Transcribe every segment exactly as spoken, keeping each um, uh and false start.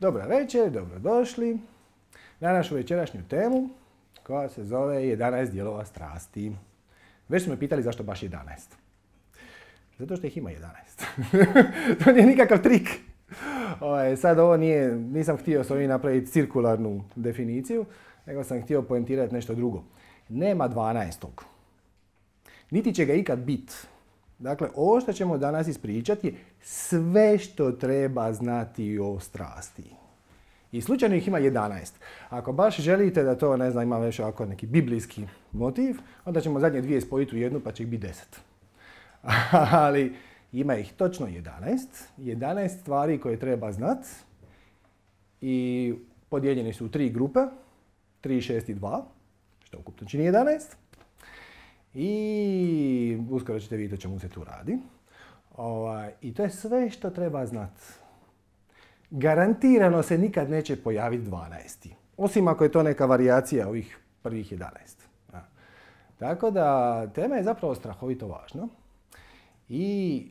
Dobra večer, dobrodošli na našu večerašnju temu koja se zove jedanaest dijelova strasti. Već smo me pitali zašto baš jedanaest. Zato što ih ima jedanaest. To nije nikakav trik. Ovaj, sad ovo nije, nisam htio s ovim napraviti cirkularnu definiciju, nego sam htio poentirati nešto drugo. Nema dvanaestog. Niti će ga ikad biti. Dakle, ovo što ćemo danas ispričati je sve što treba znati o strasti. I slučajno ih ima jedanaest. Ako baš želite da to, ne znam, ima već ovako neki biblijski motiv, onda ćemo zadnje dvije spojiti u jednu pa će ih biti deset. Ali ima ih točno jedanaest. jedanaest stvari koje treba znati i podijeljeni su u tri grupe. tri, šest i dva, što ukupno čini jedanaest. I uskoro ćete vidjeti o čemu se tu radi. Ovaj, I to je sve što treba znati. Garantirano se nikad neće pojaviti dvanaesti. Osim ako je to neka varijacija ovih prvih jedanaest. Ja. Tako da tema je zapravo strahovito važna. I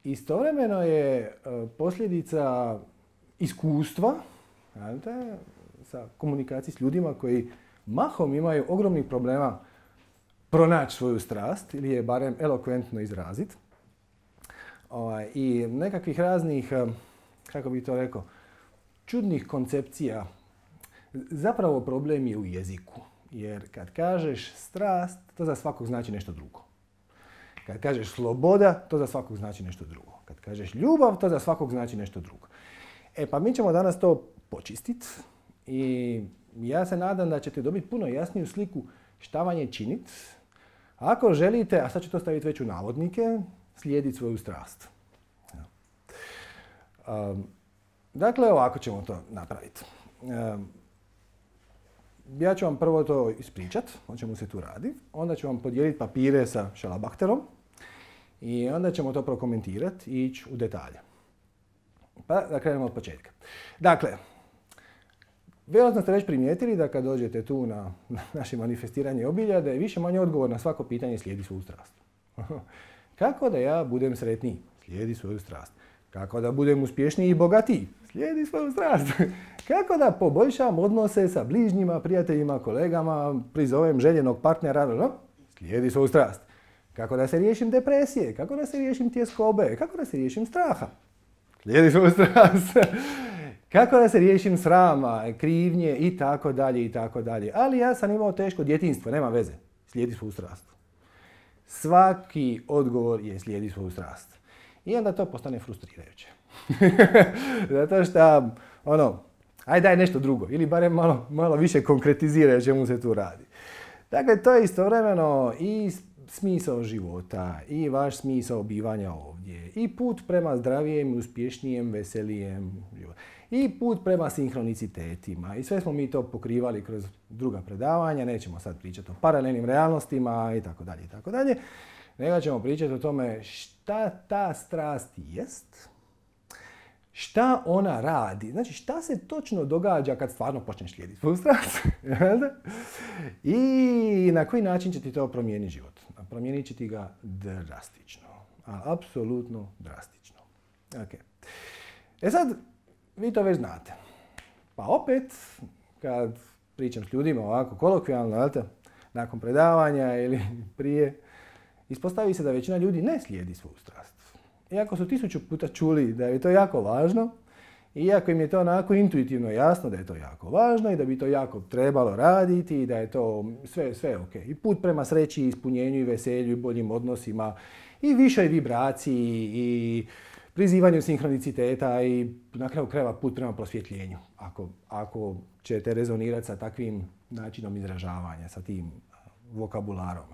istovremeno je posljedica iskustva, znate, sa komunikacijom s ljudima koji mahom imaju ogromnih problema pronaći svoju strast ili je barem elokventno izraziti. Ovaj, I nekakvih raznih, kako bih to rekao, čudnih koncepcija. Zapravo problem je u jeziku. Jer kad kažeš strast, to za svakog znači nešto drugo. Kad kažeš sloboda, to za svakog znači nešto drugo. Kad kažeš ljubav, to za svakog znači nešto drugo. E pa mi ćemo danas to počistiti i ja se nadam da ćete dobiti puno jasniju sliku šta vam je činiti ako želite, a sad ću to staviti već u navodnike, slijediti svoju strast. Um, dakle, ovako ćemo to napraviti. Um, ja ću vam prvo to ispričati, o čemu se tu radi. Onda ću vam podijeliti papire sa šalabahterom i onda ćemo to prokomentirati i ići u detalje. Pa da krenemo od početka. Dakle, vjerojatno ste već primijetili da kad dođete tu na, na naše manifestiranje obilja, da je više manje odgovor na svako pitanje slijedi svoju strast. Kako da ja budem sretniji? Slijedi svoju strast. Kako da budem uspješniji i bogatiji? Slijedi svoju strast. Kako da poboljšam odnose sa bližnjima, prijateljima, kolegama, prizovem željenog partnera? No? Slijedi svoju strast. Kako da se riješim depresije? Kako da se riješim tjeskobe? Kako da se riješim straha? Slijedi svoju strast. Kako da se riješim srama, krivnje i tako dalje i tako dalje. Ali ja sam imao teško djetinjstvo, nema veze. Slijedi svoju strast. Svaki odgovor je slijedi svoju strast. I onda to postane frustrirajuće. Zato što, ono, aj daj nešto drugo. Ili barem malo, malo više konkretiziraj o čemu se tu radi. Dakle, to je istovremeno i smisao života, i vaš smisao bivanja ovdje, i put prema zdravijem, uspješnijem, veselijem životu. I put prema sinhronicitetima. I sve smo mi to pokrivali kroz druga predavanja. Nećemo sad pričati o paralelnim realnostima i tako dalje i tako dalje. Nego ćemo pričati o tome šta ta strast jest, šta ona radi. Znači šta se točno događa kad stvarno počneš slijediti svoju strast. I na koji način će ti to promijeniti život. Promijenit će ti ga drastično. A apsolutno drastično. Okay. E sad, vi to već znate. Pa opet, kad pričam s ljudima ovako kolokvijalno, nakon predavanja ili prije, ispostavi se da većina ljudi ne slijedi svoju strast. Iako su tisuću puta čuli da je to jako važno, iako im je to onako intuitivno jasno da je to jako važno i da bi to jako trebalo raditi i da je to sve, sve ok. I put prema sreći, ispunjenju i veselju i boljim odnosima i višoj vibraciji i prizivanju sinhroniciteta i na kraju krajeva put prema prosvjetljenju. Ako, ako ćete rezonirati sa takvim načinom izražavanja, sa tim vokabularom.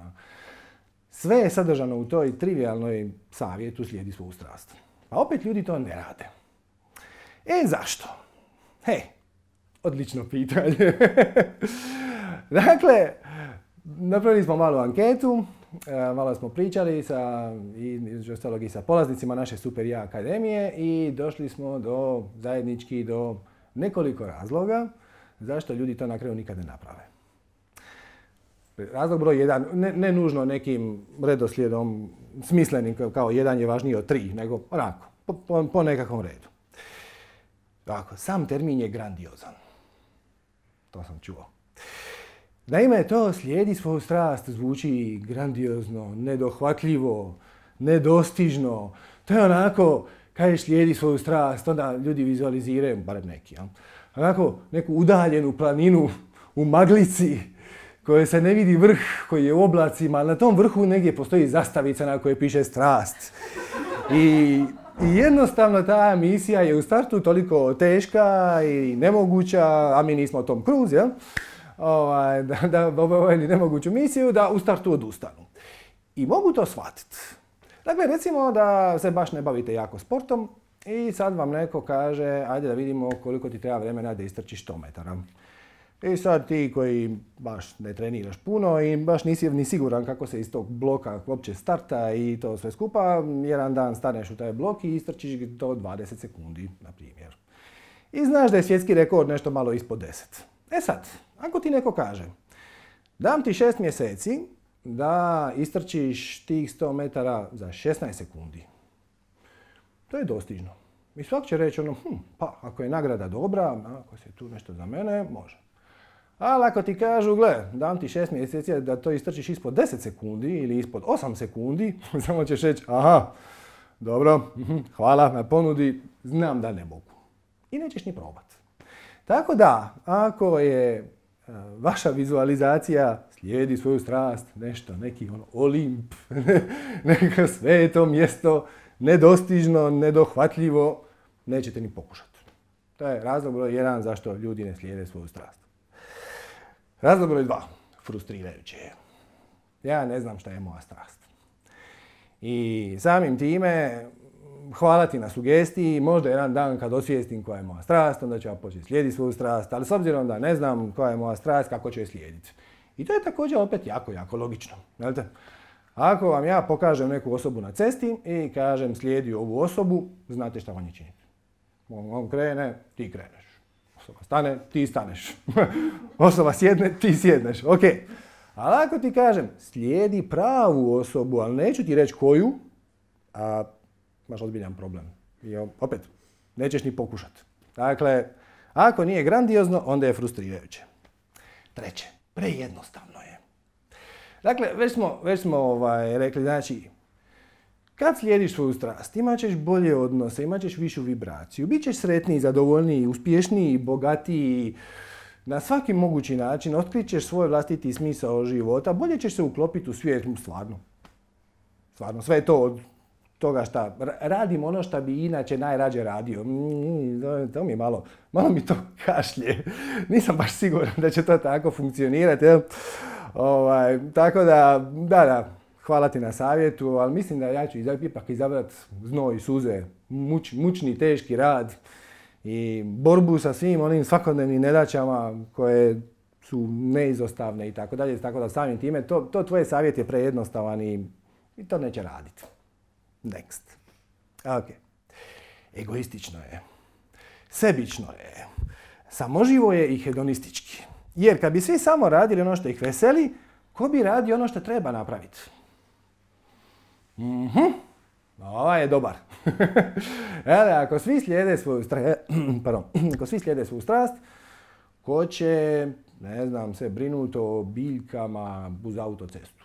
Sve je sadržano u toj trivijalnoj savjetu slijedi svoju strast. A opet ljudi to ne rade. E zašto? He, odlično pitanje. Dakle, napravili smo malu anketu, malo smo pričali sa, između ostalog i sa polaznicima naše Super ja akademije i došli smo do zajednički do nekoliko razloga zašto ljudi to na kraju nikad ne naprave. Razlog broj jedan, ne, ne nužno nekim redoslijedom smislenim kao jedan je važniji od tri, nego onako, po, po, po nekakvom redu. Tako, sam termin je grandiozan. To sam čuo. Naime, to slijedi svoju strast, zvuči grandiozno, nedohvatljivo, nedostižno. To je onako, kažeš slijedi svoju strast, onda ljudi vizualiziraju, barem neki, ja? Onako neku udaljenu planinu u maglici, koje se ne vidi vrh, koji je u oblacima, ali na tom vrhu negdje postoji zastavica na kojoj piše strast. I, I jednostavno ta misija je u startu toliko teška i nemoguća, a mi nismo Tom Cruise, ja? Ovaj, da, da obavljaju nemoguću misiju, da u startu odustanu. I mogu to shvatiti. Dakle, recimo da se baš ne bavite jako sportom i sad vam neko kaže, ajde da vidimo koliko ti treba vremena da istrčiš sto metara. I sad ti koji baš ne treniraš puno i baš nisi ni siguran kako se iz tog bloka uopće starta i to sve skupa, jedan dan staneš u taj blok i istrčiš do dvadeset sekundi, na primjer. I znaš da je svjetski rekord nešto malo ispod deset. E sad, ako ti neko kaže, dam ti šest mjeseci da istrčiš tih sto metara za šesnaest sekundi, to je dostižno. I svak će reći ono, hm, pa ako je nagrada dobra, ako se tu nešto za mene, može. Ali ako ti kažu, gle, dam ti šest mjeseci da to istrčiš ispod deset sekundi ili ispod osam sekundi, samo ćeš reći, aha, dobro, hvala na ponudi, znam da ne mogu. I nećeš ni probati. Tako da, ako je uh, vaša vizualizacija slijedi svoju strast, nešto, neki ono, Olimp, neko sveto mjesto, nedostižno, nedohvatljivo, nećete ni pokušati. To je razlog broj jedan zašto ljudi ne slijede svoju strast. Razlog broj dva, frustrirajuće je. Ja ne znam šta je moja strast. I samim time, hvala ti na sugestiji, možda jedan dan kad osvijestim koja je moja strast, onda ću ja početi slijediti svoju strast, ali s obzirom da ne znam koja je moja strast, kako ću je slijediti. I to je također opet jako, jako logično. Znate? Ako vam ja pokažem neku osobu na cesti i kažem slijedi ovu osobu, znate šta vam je činiti. On krene, ti kreneš. Osoba stane, ti staneš. Osoba sjedne, ti sjedneš. Ok. Ali ako ti kažem slijedi pravu osobu, ali neću ti reći koju, a imaš ozbiljan problem. I opet, nećeš ni pokušati. Dakle, ako nije grandiozno, onda je frustrirajuće. Treće, prejednostavno je. Dakle, već smo, već smo ovaj, rekli, znači, kad slijediš svoju strast, imat ćeš bolje odnose, imat ćeš višu vibraciju, bit ćeš sretniji, zadovoljniji, uspješniji, bogatiji, na svaki mogući način otkrićeš svoj vlastiti smisao života, bolje ćeš se uklopiti u svijet, stvarno. Stvarno, sve je to od toga šta radim ono što bi inače najrađe radio. Mm, to mi je malo, malo mi to kašlje. Nisam baš siguran da će to tako funkcionirati. Ovaj, tako da, da, da, hvala ti na savjetu, ali mislim da ja ću ipak izabrati znoj i suze, muč, mučni, teški rad i borbu sa svim onim svakodnevnim nedaćama koje su neizostavne i tako dalje. Tako da samim time, to, to tvoj savjet je prejednostavan i, i to neće raditi. Next. Ok. Egoistično je. Sebično je. Samoživo je i hedonistički. Jer kad bi svi samo radili ono što ih veseli, ko bi radio ono što treba napraviti? Mhm. Ovaj je dobar. Ele, ako svi slijede svoju strast, pardon, ako svi slijede svoju strast, ko će, ne znam, se brinuti o biljkama uz autocestu?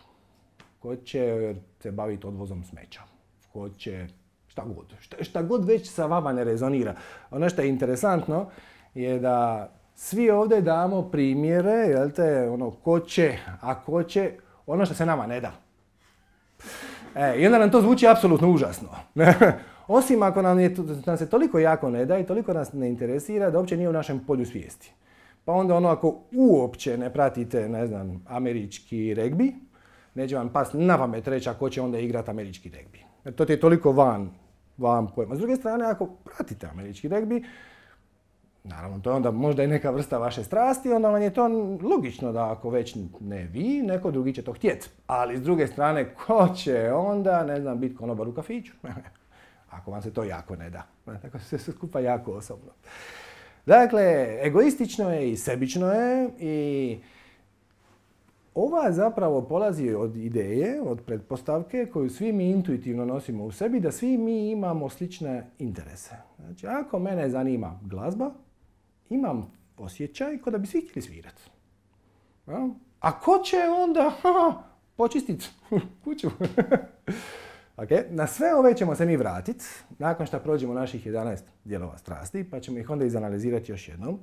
Ko će se baviti odvozom smeća? Ko će šta god, šta, šta god već sa vama ne rezonira. Ono što je interesantno je da svi ovdje damo primjere, jel te, ono, ko će, a ko će, ono što se nama ne da. E, I onda nam to zvuči apsolutno užasno. Osim ako nam, je, nam se toliko jako ne da i toliko nas ne interesira da uopće nije u našem polju svijesti. Pa onda ono, ako uopće ne pratite, ne znam, američki regbi, neće vam past na pamet reći ako će onda igrati američki regbi. Jer to ti je toliko van, van pojma. S druge strane, ako pratite američki regbi, naravno, to je onda možda i neka vrsta vaše strasti, onda vam je to logično da ako već ne vi, neko drugi će to htjeti. Ali s druge strane, ko će onda, ne znam, biti konobar u kafiću? Ako vam se to jako ne da. Tako se sve skupa jako osobno. Dakle, egoistično je i sebično je i ova zapravo polazi od ideje, od pretpostavke koju svi mi intuitivno nosimo u sebi, da svi mi imamo slične interese. Znači, ako mene zanima glazba, imam osjećaj kao da bi svi htjeli svirati. Ja? A ko će onda počistiti kuću? Okay. Na sve ove ćemo se mi vratiti nakon što prođemo naših jedanaest dijelova strasti, pa ćemo ih onda izanalizirati još jednom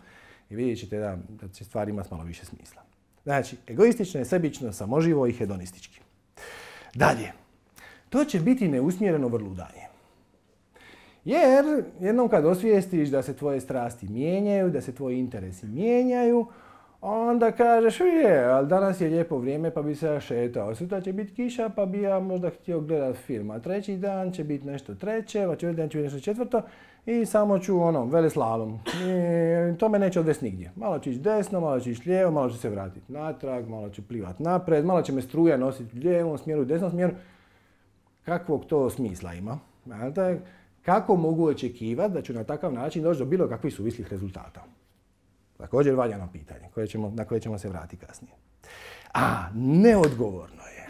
i vidjet ćete da, da će stvari imati malo više smisla. Znači, egoistično, sebično, samoživo i hedonistički. Dalje, to će biti neusmjereno vrludanje. Jer jednom kad osvijestiš da se tvoje strasti mijenjaju, da se tvoji interesi mijenjaju, onda kažeš, je, ali danas je lijepo vrijeme pa bi se ja šetao. Sutra će biti kiša pa bi ja možda htio gledat film. A treći dan će biti nešto treće, a četvrti dan će biti nešto četvrto i samo ću ono, veleslalom. I to me neće odvesti nigdje. Malo ću ići desno, malo ću ići lijevo, malo ću se vratiti natrag, malo ću plivat napred, malo će me struja nositi u lijevom smjeru, u desnom smjeru. Kakvog to smisla ima? Kako mogu očekivati da ću na takav način doći do bilo kakvih suvislih rezultata? Također valjano pitanje koje ćemo, na koje ćemo se vratiti kasnije. A, neodgovorno je.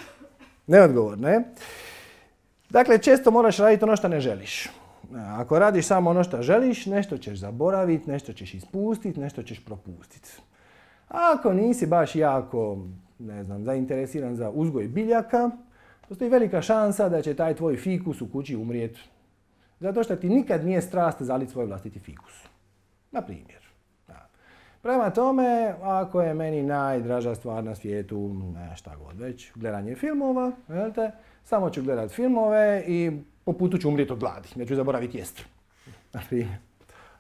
Neodgovorno je. Dakle, često moraš raditi ono što ne želiš. Ako radiš samo ono što želiš, nešto ćeš zaboraviti, nešto ćeš ispustiti, nešto ćeš propustiti. Ako nisi baš jako, ne znam, zainteresiran za uzgoj biljaka, postoji velika šansa da će taj tvoj fikus u kući umrijeti. Zato što ti nikad nije strast zaliti svoj vlastiti fikus. Na primjer. Prema tome, ako je meni najdraža stvar na svijetu, ne šta god već, gledanje filmova, velte, samo ću gledat filmove i po putu ću umrijeti od gladi, neću zaboraviti jest. Na primjer.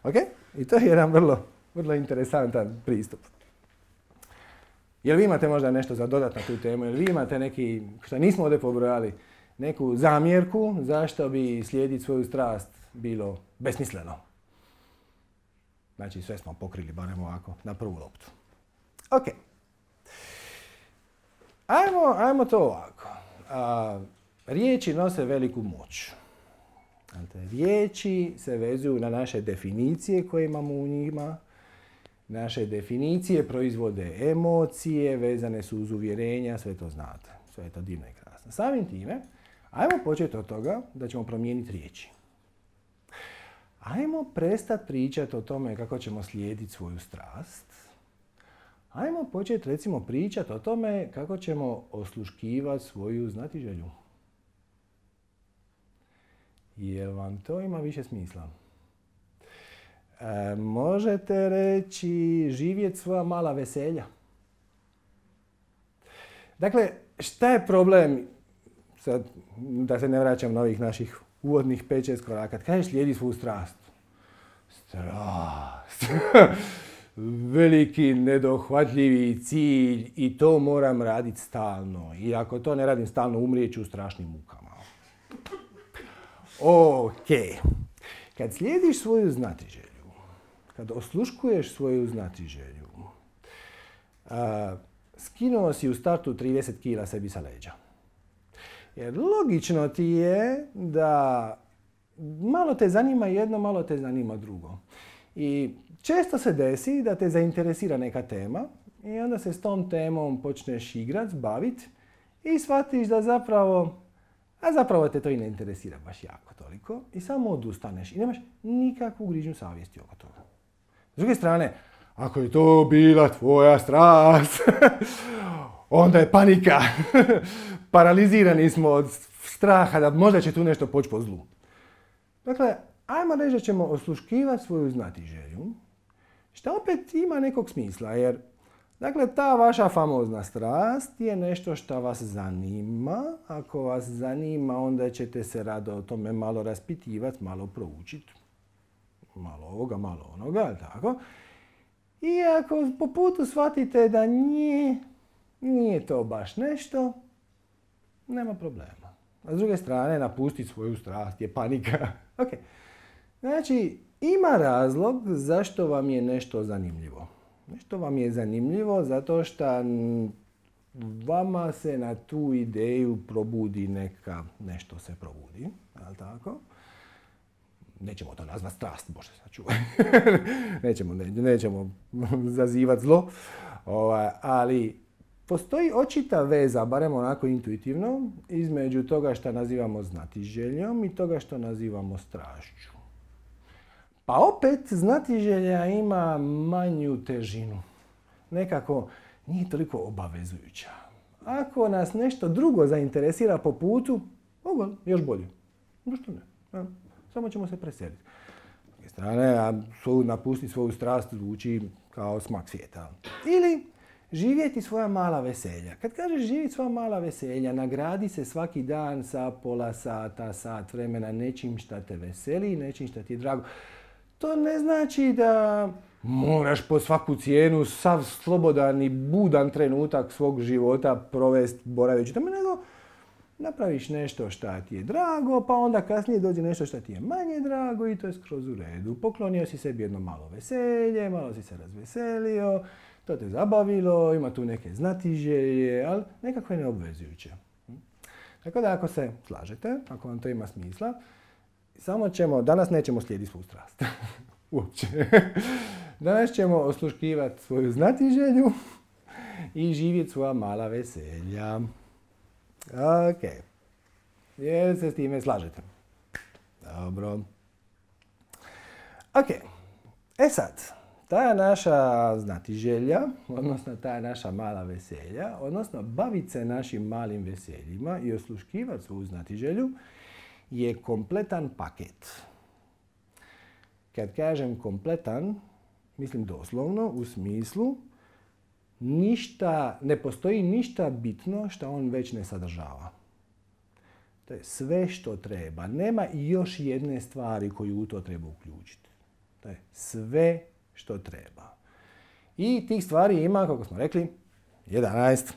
Ok? I to je jedan vrlo, vrlo interesantan pristup. Jel vi imate možda nešto za dodat na tu temu? Jel vi imate neki, što nismo ovdje pobrojali, neku zamjerku zašto bi slijediti svoju strast bilo besmisleno? Znači sve smo pokrili, barem ovako, na prvu loptu. Ok. Ajmo, ajmo to ovako. A, riječi nose veliku moć. Znači, riječi se vezuju na naše definicije koje imamo u njima. Naše definicije proizvode emocije, vezane su uz uvjerenja, sve to znate. Sve je to divno i krasno. Samim time, ajmo početi od toga da ćemo promijeniti riječi. Ajmo prestati pričati o tome kako ćemo slijediti svoju strast. Ajmo početi recimo pričati o tome kako ćemo osluškivati svoju znatiželju. Jel vam to ima više smisla? E, možete reći živjeti svoja mala veselja. Dakle, šta je problem, sad, da se ne vraćam na ovih naših uvodnih pet šest koraka, kad kažeš slijedi svoju strast. Strast. Veliki, nedohvatljivi cilj i to moram raditi stalno. I ako to ne radim stalno, umrijet ću u strašnim mukama. Ok. Kad slijediš svoju znatiželju, kad osluškuješ svoju znatiželju, a, skinuo si u startu trideset kila sebi sa leđa. Jer logično ti je da malo te zanima jedno, malo te zanima drugo. I često se desi da te zainteresira neka tema i onda se s tom temom počneš igrat, bavit i shvatiš da zapravo, a zapravo te to i ne interesira baš jako toliko i samo odustaneš i nemaš nikakvu grižnju savjesti oko toga. S druge strane, ako je to bila tvoja strast, onda je panika. Paralizirani smo od straha da možda će tu nešto poći po zlu. Dakle, ajmo reći da ćemo osluškivati svoju znatiželju, što opet ima nekog smisla, jer dakle, ta vaša famozna strast je nešto što vas zanima. Ako vas zanima, onda ćete se rado o tome malo raspitivati, malo proučiti. Malo ovoga, malo onoga, tako? I ako po putu shvatite da nije, nije to baš nešto, nema problema. A s druge strane, napustiti svoju strast je panika. Okay. Znači, ima razlog zašto vam je nešto zanimljivo. Nešto vam je zanimljivo zato što vama se na tu ideju probudi neka, nešto se probudi, ali tako? Nećemo to nazvati strast, Bože sačuvaj. nećemo, ne, nećemo zazivati zlo, ovaj, ali postoji očita veza, barem onako intuitivno, između toga što nazivamo znatiželjom i toga što nazivamo strašću. Pa opet znatiželja ima manju težinu. Nekako nije toliko obavezujuća. Ako nas nešto drugo zainteresira po putu, ovo još bolje. Zašto ne? Ja, samo ćemo se preseliti. S druge strane, a napustiti svoju strast zvuči kao smak svijeta. Ili živjeti svoja mala veselja. Kad kažeš živjeti svoja mala veselja, nagradi se svaki dan sa pola sata, sat vremena nečim šta te veseli, nečim šta ti je drago. To ne znači da moraš po svaku cijenu sav slobodan i budan trenutak svog života provesti boraveći tome, nego napraviš nešto šta ti je drago, pa onda kasnije dođe nešto šta ti je manje drago i to je skroz u redu. Poklonio si sebi jedno malo veselje, malo si se razveselio, to te zabavilo, ima tu neke znatiželje, ali nekako je neobvezujuće. Tako da ako se slažete, ako vam to ima smisla, samo ćemo, danas nećemo slijediti svu strast. Uopće. Danas ćemo osluškivati svoju znatiželju i živjeti svoja mala veselja. Ok. Jer se s time slažete? Dobro. Ok. E sad, ta naša znatiželja, odnosno ta naša mala veselja, odnosno baviti se našim malim veseljima i osluškivati svoju znatiželju, je kompletan paket. Kad kažem kompletan, mislim doslovno u smislu ništa, ne postoji ništa bitno što on već ne sadržava. To je sve što treba. Nema još jedne stvari koju u to treba uključiti. To je sve što treba. I tih stvari ima, kako smo rekli, jedanaest.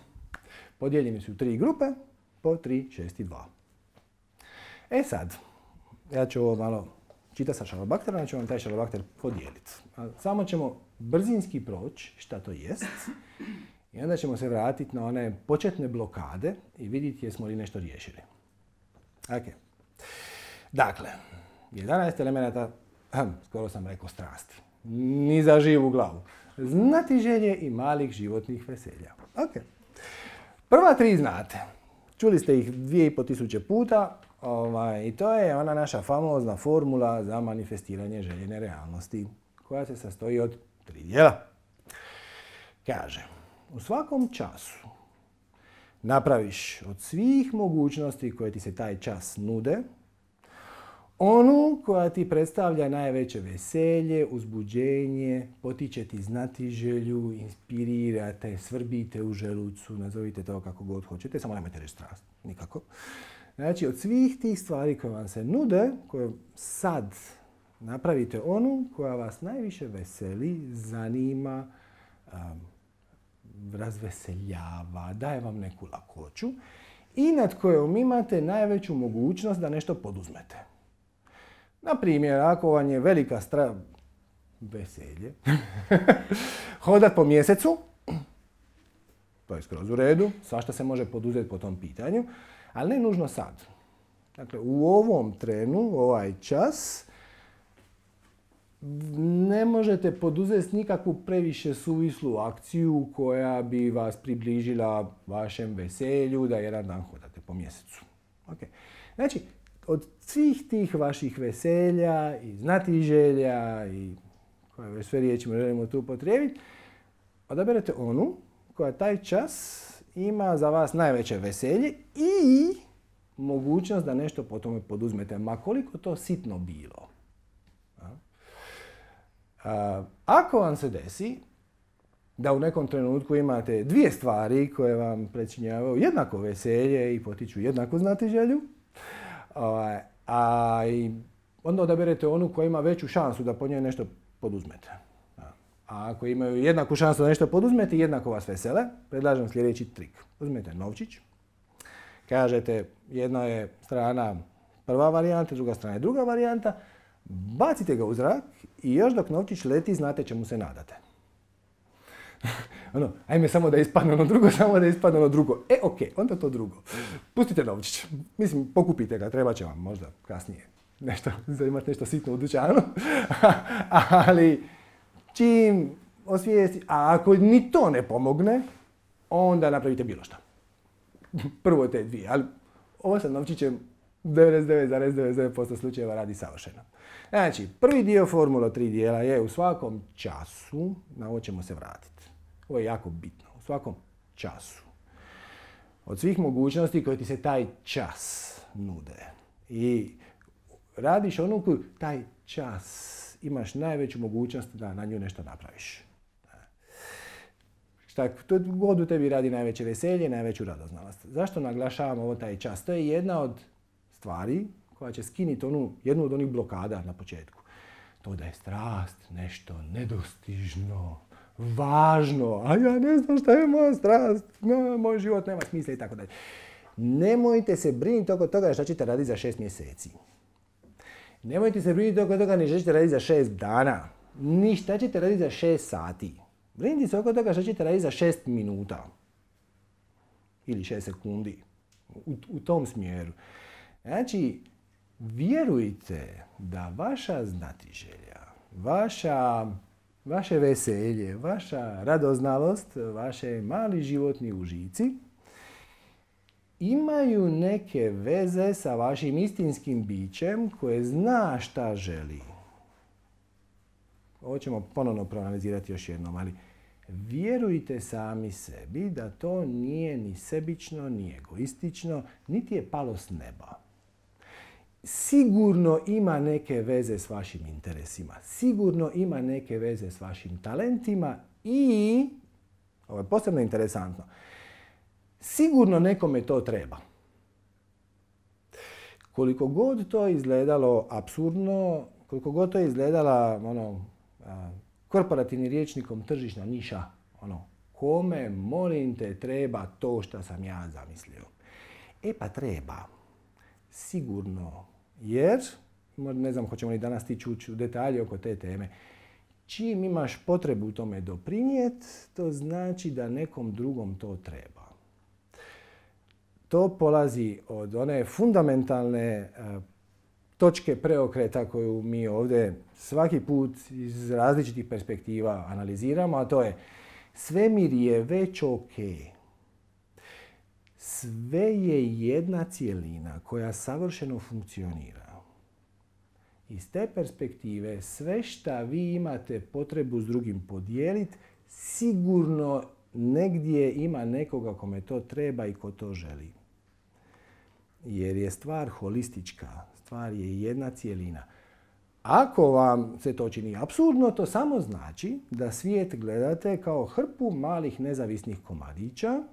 Podijeljeni su u tri grupe, po tri, šest i dva. E sad, ja ću ovo malo čitati sa šalobakterom, ja ću vam taj šalobakter podijeliti. Samo ćemo brzinski proći šta to jest i onda ćemo se vratiti na one početne blokade i vidjeti jesmo li nešto riješili. Ok. Dakle, jedanaest elemenata, hm, skoro sam rekao strasti, ni za živu glavu. Znatiželje i malih životnih veselja. Ok. Prva tri znate. Čuli ste ih dvije i po tisuće puta. Ovaj, I to je ona naša famozna formula za manifestiranje željene realnosti, koja se sastoji od tri dijela. Kaže, u svakom času napraviš od svih mogućnosti koje ti se taj čas nude, onu koja ti predstavlja najveće veselje, uzbuđenje, potiče ti znatiželju, inspirira te, svrbite u želucu, nazovite to kako god hoćete, samo nemojte reći strast, nikako. Znači, od svih tih stvari koje vam se nude, koje sad napravite onu koja vas najviše veseli, zanima, um, razveseljava, daje vam neku lakoću i nad kojom imate najveću mogućnost da nešto poduzmete. Na primjer, ako vam je velika stra... veselje, hodat po mjesecu, to je skroz u redu, svašta se može poduzeti po tom pitanju, ali ne nužno sad. Dakle, u ovom trenu, ovaj čas, ne možete poduzeti nikakvu previše suvislu akciju koja bi vas približila vašem veselju da jedan dan hodate po mjesecu. Okay. Znači, od svih tih vaših veselja i znatiželja i koje već sve riječi želimo tu upotrijebiti, odaberete onu koja taj čas ima za vas najveće veselje i mogućnost da nešto po tome poduzmete, ma koliko to sitno bilo. A, ako vam se desi da u nekom trenutku imate dvije stvari koje vam pričinjavaju jednako veselje i potiču jednaku znatiželju, a, a i onda odaberete onu koja ima veću šansu da po njoj nešto poduzmete. A ako imaju jednaku šansu da nešto poduzmete i jednako vas vesele, predlažem sljedeći trik. Uzmete novčić, kažete jedna je strana prva varijanta, druga strana je druga varijanta, bacite ga u zrak i još dok novčić leti znate čemu se nadate. Ono, ajme samo da ispadne ono drugo, samo da ispadne ono drugo. E, ok, onda to drugo. Pustite novčić. Mislim, pokupite ga, treba će vam možda kasnije nešto, za imati nešto sitno u dućanu. Ali čim osvijesti, a ako ni to ne pomogne, onda napravite bilo što. Prvo te dvije, ali ovo sa novčićem devedeset devet zarez devedeset devet posto slučajeva radi savršeno. Znači, prvi dio formula tri dijela je u svakom času, na ovo ćemo se vratiti. Ovo je jako bitno, u svakom času. Od svih mogućnosti koje ti se taj čas nude. I radiš onu koju taj čas imaš najveću mogućnost da na nju nešto napraviš. Šta god u tebi radi najveće veselje, najveću radoznalost. Zašto naglašavam ovo taj čas? To je jedna od stvari koja će skiniti onu, jednu od onih blokada na početku. To da je strast nešto nedostižno, važno, a ja ne znam šta je moja strast, no, moj život nema smisla i tako dalje. Nemojte se brinuti oko toga šta ćete raditi za šest mjeseci. Nemojte se brinuti oko toga ni šta ćete raditi za šest dana, ni šta ćete raditi za šest sati. Brinite se oko toga šta ćete raditi za šest minuta. Ili šest sekundi. U, u tom smjeru. Znači, vjerujte da vaša znatiželja, vaša, vaše veselje, vaša radoznalost, vaše mali životni užici imaju neke veze sa vašim istinskim bićem koje zna šta želi. Ovo ćemo ponovno proanalizirati još jednom, ali vjerujte sami sebi da to nije ni sebično, ni egoistično, niti je palo s neba. Sigurno ima neke veze s vašim interesima, sigurno ima neke veze s vašim talentima i, ovo je posebno interesantno, sigurno nekome to treba. Koliko god to izgledalo apsurdno, koliko god to izgledala ono, a, korporativnim rječnikom tržišna niša, ono, kome, molim te, treba to što sam ja zamislio. E pa treba. Sigurno. Jer, ne znam hoćemo li danas stići ući u detalje oko te teme, čim imaš potrebu tome doprinijeti, to znači da nekom drugom to treba. To polazi od one fundamentalne uh, točke preokreta koju mi ovdje svaki put iz različitih perspektiva analiziramo, a to je svemir je već ok. Sve je jedna cjelina koja savršeno funkcionira. Iz te perspektive sve šta vi imate potrebu s drugim podijeliti, sigurno negdje ima nekoga kome to treba i ko to želi. Jer je stvar holistička, stvar je jedna cjelina. Ako vam se to čini apsurdno, to samo znači da svijet gledate kao hrpu malih nezavisnih komadića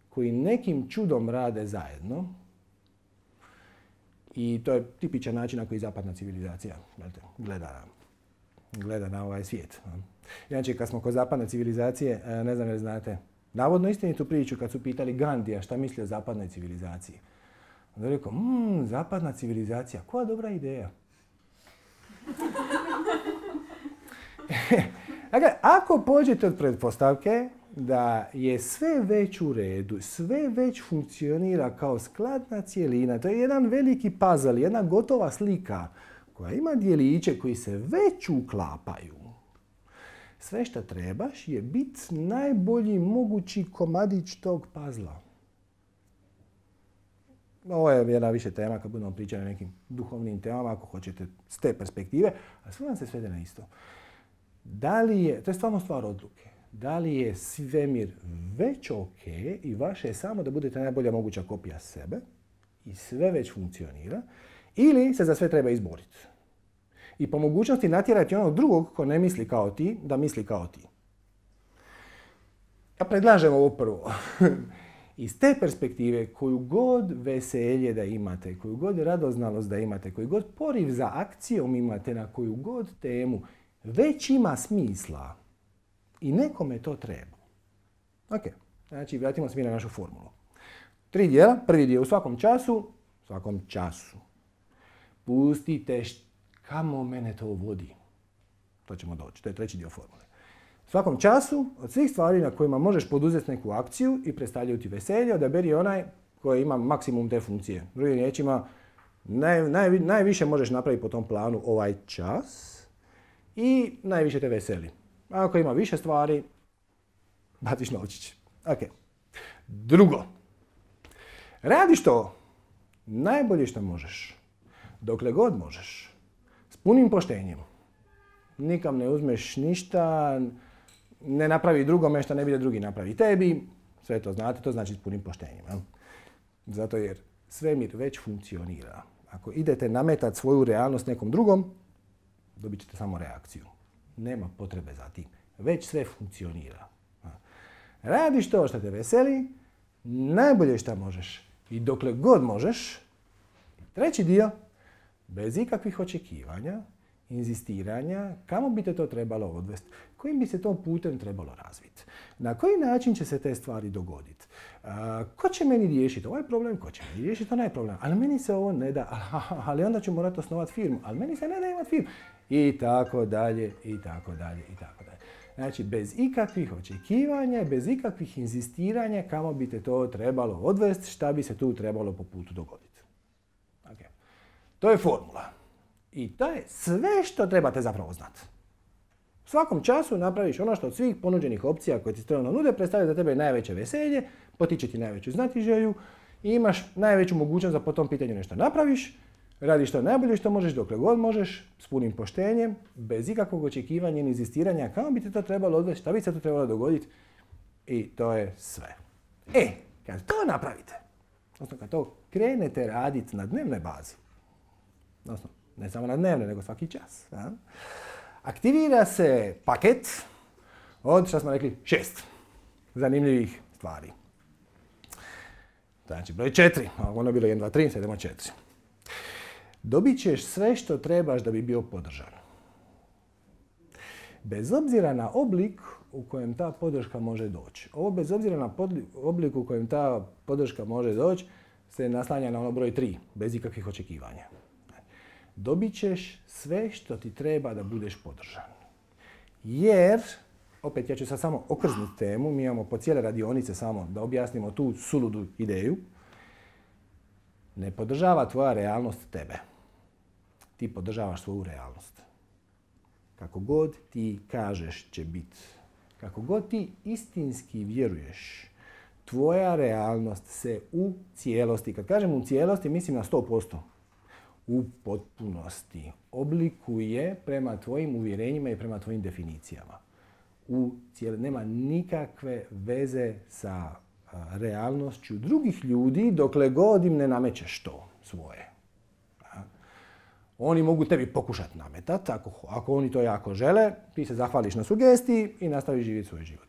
koji nekim čudom rade zajedno. I to je tipičan način na koji zapadna civilizacija gleda na, gleda na ovaj svijet. Inače, kad smo kod zapadne civilizacije, ne znam jel znate, navodno istinitu priču kad su pitali Gandija šta misli o zapadnoj civilizaciji. Onda je rekao, mmm, zapadna civilizacija, koja dobra ideja. Dakle, ako pođete od pretpostavke da je sve već u redu, sve već funkcionira kao skladna cjelina, to je jedan veliki puzzle, jedna gotova slika koja ima dijeliće koji se već uklapaju. Sve što trebaš je biti najbolji mogući komadić tog puzzla. Ovo je jedna više tema kad budemo pričali o nekim duhovnim temama, ako hoćete s te perspektive, a sve vam se svede na isto. Da li je, to je stvarno stvar odluke, da li je svemir već ok i vaše je samo da budete najbolja moguća kopija sebe i sve već funkcionira, ili se za sve treba izboriti. I po mogućnosti natjerati onog drugog ko ne misli kao ti, da misli kao ti. Ja predlažem ovo prvo. Iz te perspektive, koju god veselje da imate, koju god radoznalost da imate, koju god poriv za akcijom imate, na koju god temu, već ima smisla i nekome to treba. Ok, znači vratimo se mi na našu formulu. Tri dijela, prvi dio u svakom času, u svakom času. Pustite kamo mene to vodi. To ćemo doći, to je treći dio formule. U svakom času, od svih stvari na kojima možeš poduzeti neku akciju i predstavljaju ti veselje, odaberi onaj koji ima maksimum te funkcije. Drugim riječima, naj, naj, najviše možeš napraviti po tom planu ovaj čas i najviše te veseli. Ako ima više stvari, baciš novčić. Ok. Drugo. Radiš to najbolje što možeš. Dokle god možeš. S punim poštenjem. Nikam ne uzmeš ništa, ne napravi drugome što ne bi da drugi napravi tebi. Sve to znate, to znači s punim poštenjem. Ja? Zato jer svemir već funkcionira. Ako idete nametati svoju realnost nekom drugom, dobit ćete samo reakciju. Nema potrebe za tim. Već sve funkcionira. Radiš to što te veseli, najbolje što možeš. I dokle god možeš. Treći dio, bez ikakvih očekivanja, inzistiranja, kamo bi te to trebalo odvesti, kojim bi se to putem trebalo razviti, na koji način će se te stvari dogoditi, ko će meni riješiti ovaj problem, ko će meni riješiti onaj problem, ali meni se ovo ne da, ali onda ću morati osnovati firmu, ali meni se ne da imati firmu, i tako dalje, i tako dalje, i tako dalje. Znači, bez ikakvih očekivanja, bez ikakvih inzistiranja, kamo bi te to trebalo odvesti, šta bi se tu trebalo po putu dogoditi. Okay. To je formula. I to je sve što trebate zapravo znati. U svakom času napraviš ono što od svih ponuđenih opcija koje ti strano nude predstavlja za tebe najveće veselje, potiče ti najveću znatiželju i imaš najveću mogućnost da po tom pitanju nešto napraviš, radiš to najbolje što možeš dokle god možeš, s punim poštenjem, bez ikakvog očekivanja i inzistiranja, kako bi te to trebalo odvesti, šta bi se to trebalo dogoditi i to je sve. E, kad to napravite, odnosno kad to krenete raditi na dnevnoj bazi, odnosno ne samo na dnevne, nego svaki čas. A? Aktivira se paket od, što smo rekli, šest zanimljivih stvari. Znači, broj četiri. Ono je bilo jedan, dva, tri, sad idemo četiri. Dobit ćeš sve što trebaš da bi bio podržan. Bez obzira na oblik u kojem ta podrška može doći. Ovo bez obzira na oblik u kojem ta podrška može doći se naslanja na ono broj tri, bez ikakvih očekivanja. Dobit ćeš sve što ti treba da budeš podržan. Jer, opet ja ću sad samo okrznuti temu, mi imamo po cijele radionice samo da objasnimo tu suludu ideju. Ne podržava tvoja realnost tebe. Ti podržavaš svoju realnost. Kako god ti kažeš će biti, kako god ti istinski vjeruješ, tvoja realnost se u cijelosti, kad kažem u cijelosti, mislim na sto posto. U potpunosti oblikuje prema tvojim uvjerenjima i prema tvojim definicijama. U cijel... Nema nikakve veze sa a, realnošću drugih ljudi dokle god im ne namećeš to svoje. A? Oni mogu tebi pokušati nametati, ako, ako oni to jako žele, ti se zahvališ na sugestiji i nastaviš živjeti svoj život.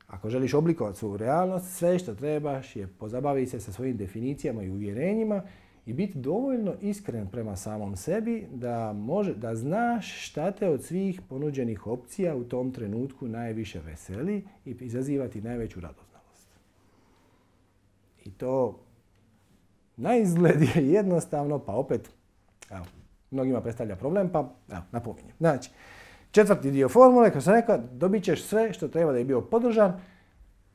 Ako želiš oblikovati svoju realnost, sve što trebaš je pozabaviti se sa svojim definicijama i uvjerenjima i biti dovoljno iskren prema samom sebi da, može, da znaš šta te od svih ponuđenih opcija u tom trenutku najviše veseli i izazivati najveću radoznalost. I to na izgled je jednostavno, pa opet, evo, mnogima predstavlja problem, pa evo, napominjem. Znači, četvrti dio formule, kao sam rekao, dobit ćeš sve što treba da je bio podržan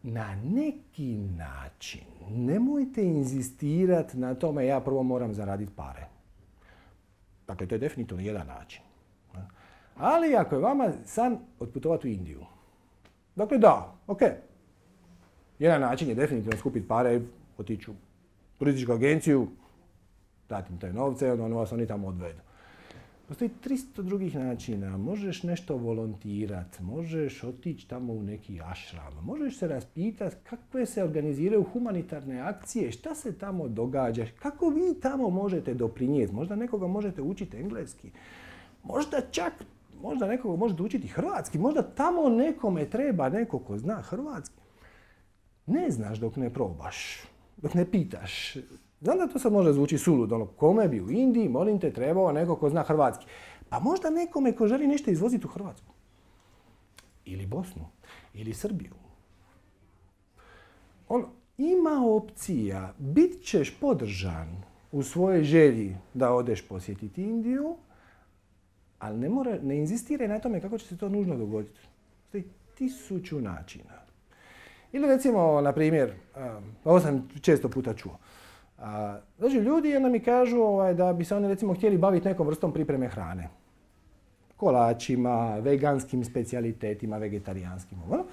na neki način. Nemojte inzistirati na tome ja prvo moram zaraditi pare. Dakle, to je definitivno jedan način. Ali ako je vama san otputovati u Indiju. Dakle, da, ok. Jedan način je definitivno skupiti pare, otići u turističku agenciju, dati im te novce, onda vas oni tamo odvedu. Postoji tristo drugih načina. Možeš nešto volontirati, možeš otići tamo u neki ašram, možeš se raspitati kakve se organiziraju humanitarne akcije, šta se tamo događa, kako vi tamo možete doprinijeti. Možda nekoga možete učiti engleski, možda čak možda nekoga možete učiti hrvatski, možda tamo nekome treba neko ko zna hrvatski. Ne znaš dok ne probaš, dok ne pitaš. Znam da to sad može zvuči suludo, ono, kome bi u Indiji, molim te, trebao neko ko zna hrvatski. Pa možda nekome ko želi nešto izvoziti u Hrvatsku. Ili Bosnu, ili Srbiju. Ono, ima opcija, bit ćeš podržan u svojoj želji da odeš posjetiti Indiju, ali ne, mora, ne inzistiraj na tome kako će se to nužno dogoditi. Postoji tisuću načina. Ili recimo, na primjer, ovo sam često puta čuo. A, znači, ljudi onda mi kažu ovaj, da bi se oni recimo htjeli baviti nekom vrstom pripreme hrane. Kolačima, veganskim specijalitetima, vegetarijanskim. Ono.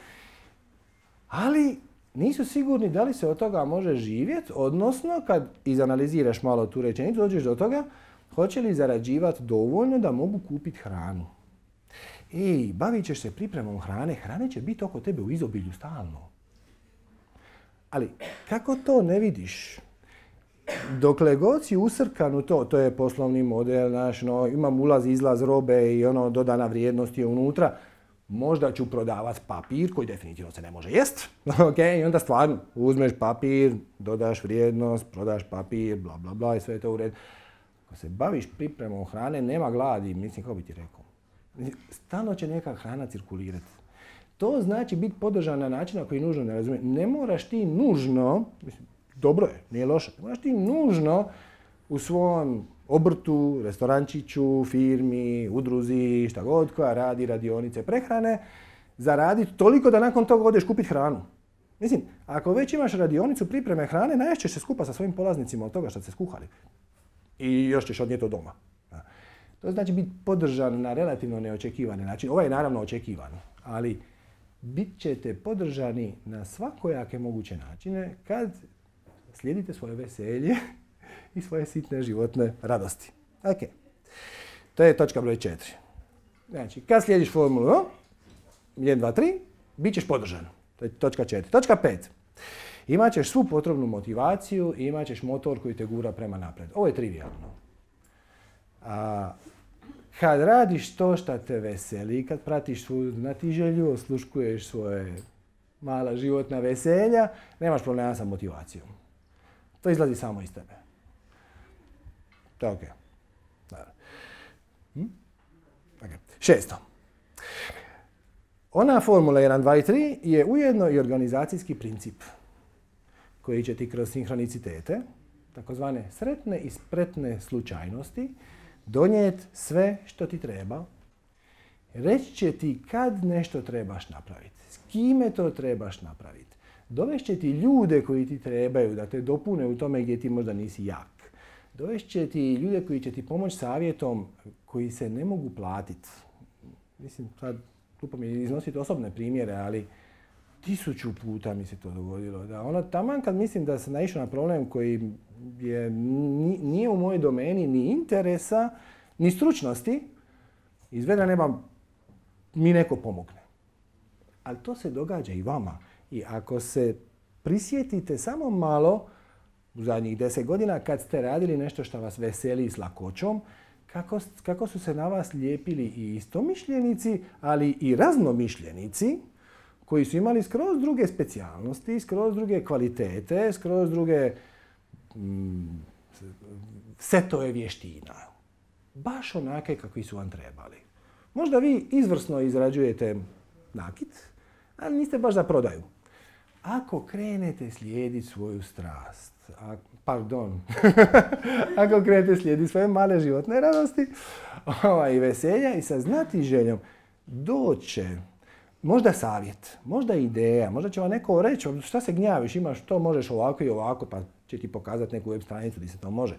Ali nisu sigurni da li se od toga može živjeti, odnosno kad izanaliziraš malo tu rečenicu, dođeš do toga, hoće li zarađivati dovoljno da mogu kupiti hranu. I bavit ćeš se pripremom hrane, hrane će biti oko tebe u izobilju stalno. Ali kako to ne vidiš? Dokle god si usrkan u to, to je poslovni model, znaš, no, imam ulaz, izlaz robe i ono, dodana vrijednost je unutra, možda ću prodavati papir koji definitivno se ne može jest. Okay? I onda stvarno uzmeš papir, dodaš vrijednost, prodaš papir, bla bla bla i sve je to u redu. Ako se baviš pripremom hrane, nema gladi, mislim, kako bi ti rekao. Stalno će neka hrana cirkulirati. To znači biti podržan na način na koji nužno ne razumije. Ne moraš ti nužno, mislim, dobro je, nije loše, ne moraš ti nužno u svom obrtu, restorančiću, firmi, udruzi, šta god koja radi radionice prehrane, zaraditi toliko da nakon toga odeš kupiti hranu. Mislim, ako već imaš radionicu pripreme hrane, naješćeš se skupa sa svojim polaznicima od toga što ste skuhali. I još ćeš odnijeti od doma. To znači biti podržan na relativno neočekivani način. Ovo je naravno očekivano, ali bit ćete podržani na svakojake moguće načine kad slijedite svoje veselje i svoje sitne životne radosti. Ok. To je točka broj četiri. Znači, kad slijediš formulu jedan, dva, tri, bit ćeš podržan. To je točka četiri. Točka pet. Imat ćeš svu potrebnu motivaciju i imat ćeš motor koji te gura prema napred. Ovo je trivijalno. A, kad radiš to što te veseli, kad pratiš svoju znatiželju, osluškuješ svoje mala životna veselja, nemaš problema sa motivacijom. To izlazi samo iz tebe. To je ok. Hm? Okay. Šesto. Ona formula jedan, dva i tri je ujedno i organizacijski princip koji će ti kroz sinhronicitete, takozvane sretne i spretne slučajnosti, donijeti sve što ti treba. Reći će ti kad nešto trebaš napraviti, s kime to trebaš napraviti. Dovešće ti ljude koji ti trebaju da te dopune u tome gdje ti možda nisi jak. Dovešće ti ljude koji će ti pomoći savjetom koji se ne mogu platiti. Mislim, sad glupo mi je iznositi osobne primjere, ali tisuću puta mi se to dogodilo. Da ono, taman kad mislim da sam naišao na problem koji je, nije u mojoj domeni ni interesa, ni stručnosti, izvedra neba mi neko pomogne. Ali to se događa i vama. I ako se prisjetite samo malo u zadnjih deset godina kad ste radili nešto što vas veseli s lakoćom, kako, kako su se na vas lijepili i istomišljenici, ali i raznomišljenici, koji su imali skroz druge specijalnosti, skroz druge kvalitete, skroz druge mm, setove vještina. Baš onake kakvi su vam trebali. Možda vi izvrsno izrađujete nakit, ali niste baš za prodaju. Ako krenete slijediti svoju strast, a, pardon, ako krenete slijediti svoje male životne radosti i veselja i sa znatiželjom, doće možda savjet, možda ideja, možda će vam neko reći šta se gnjaviš, imaš to, možeš ovako i ovako, pa će ti pokazati neku web stranicu gdje se to može.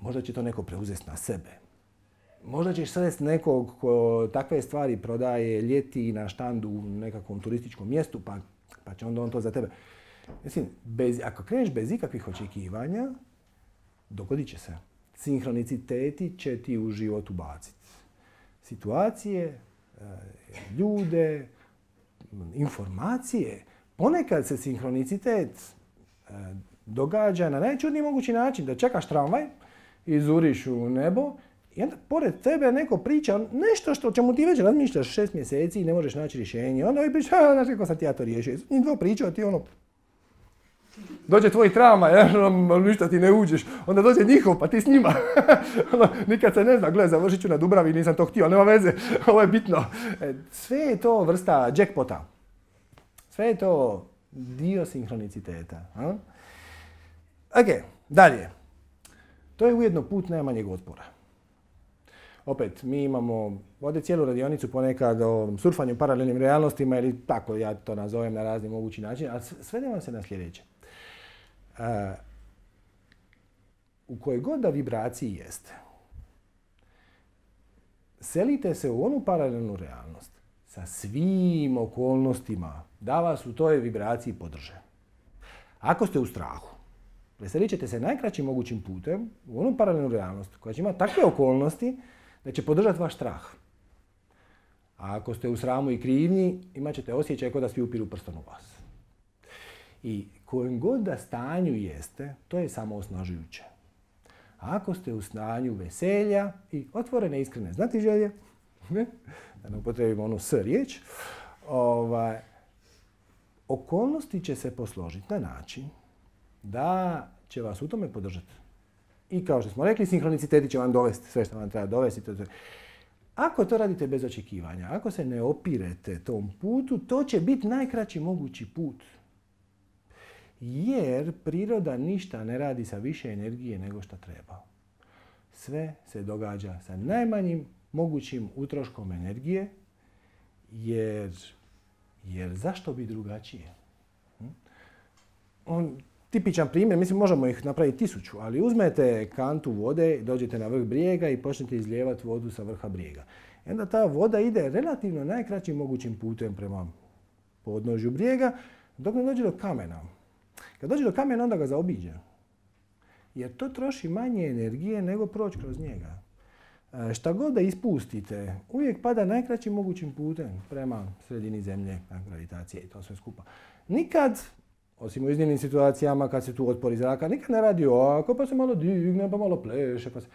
Možda će to neko preuzeti na sebe. Možda ćeš sresti nekog ko takve stvari prodaje ljeti na štandu u nekakvom turističkom mjestu, pa, pa će onda on to za tebe. Mislim, bez, ako kreneš bez ikakvih očekivanja, dogodit će se. Sinhroniciteti će ti u život ubaciti. Situacije, ljude, informacije. Ponekad se sinhronicitet događa na najčudniji mogući način. Da čekaš tramvaj, izuriš u nebo i onda pored tebe neko priča nešto što čemu ti već razmišljaš šest mjeseci i ne možeš naći rješenje. Onda ovi priča, a znaš kako sam ti ja to riješio. Njih dvo pričao ti ono... Dođe tvoj tramvaj, ništa ti ne uđeš. Onda dođe njihov, pa ti s njima. Nikad se ne zna, gledaj, završit ću na Dubravi, nisam to htio, nema veze, ovo je bitno. Sve je to vrsta jackpota. Sve je to dio sinhroniciteta. A? Ok, dalje. To je ujedno put najmanjeg otpora. Opet, mi imamo ovdje cijelu radionicu ponekad o surfanju paralelnim realnostima ili tako ja to nazovem na razni mogući način, ali svedemo se na sljedeće. Uh, u kojoj god da vibraciji jeste, selite se u onu paralelnu realnost sa svim okolnostima da vas u toj vibraciji podrže. Ako ste u strahu, veselit ćete se najkraćim mogućim putem u onu paralelnu realnost koja će imati takve okolnosti da će podržati vaš strah. A ako ste u sramu i krivnji, imat ćete osjećaj kao da svi upiru prstom u vas. I kojem god da stanju jeste, to je samo osnažujuće. A ako ste u stanju veselja i otvorene, iskrene znatiželje, da ne upotrebimo onu s riječ, ovaj, okolnosti će se posložiti na način da će vas u tome podržati. I kao što smo rekli, sinhroniciteti će vam dovesti sve što vam treba dovesti. Ako to radite bez očekivanja, ako se ne opirete tom putu, to će biti najkraći mogući put. Jer priroda ništa ne radi sa više energije nego što treba. Sve se događa sa najmanjim mogućim utroškom energije, jer, jer zašto bi drugačije? On, tipičan primjer, mislim možemo ih napraviti tisuću, ali uzmete kantu vode, dođete na vrh brijega i počnete izlijevati vodu sa vrha brijega. I onda ta voda ide relativno najkraćim mogućim putem prema podnožju brijega, dok ne dođe do kamena. Kad dođe do kamena, onda ga zaobiđe. Jer to troši manje energije nego proći kroz njega. E, šta god da ispustite, uvijek pada najkraćim mogućim putem prema sredini zemlje, gravitacije i to sve skupa. Nikad, osim u iznimnim situacijama kad se tu otpori zraka, nikad ne radi ovako, pa se malo digne, pa malo pleše, pa se...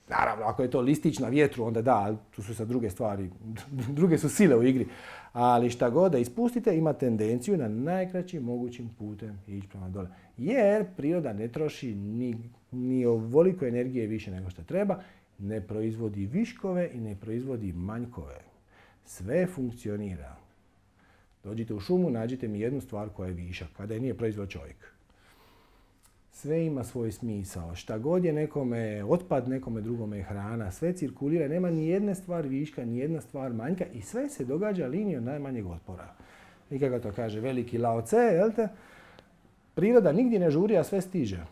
Naravno, ako je to listić na vjetru, onda da, tu su sad druge stvari, druge su sile u igri. Ali šta god da ispustite, ima tendenciju na najkraćim mogućim putem ići prema dole. Jer priroda ne troši ni, ni ovoliko energije više nego što treba, ne proizvodi viškove i ne proizvodi manjkove. Sve funkcionira. Dođite u šumu, nađite mi jednu stvar koja je višak, kada je nije proizvod čovjek. Sve ima svoj smisao. Šta god je nekome otpad, nekome drugome je hrana. Sve cirkulira, nema ni jedne stvar viška, ni jedna stvar manjka i sve se događa linijom najmanjeg otpora. I kako to kaže veliki Lao Tse, jel te? Priroda nigdje ne žuri, a sve stiže.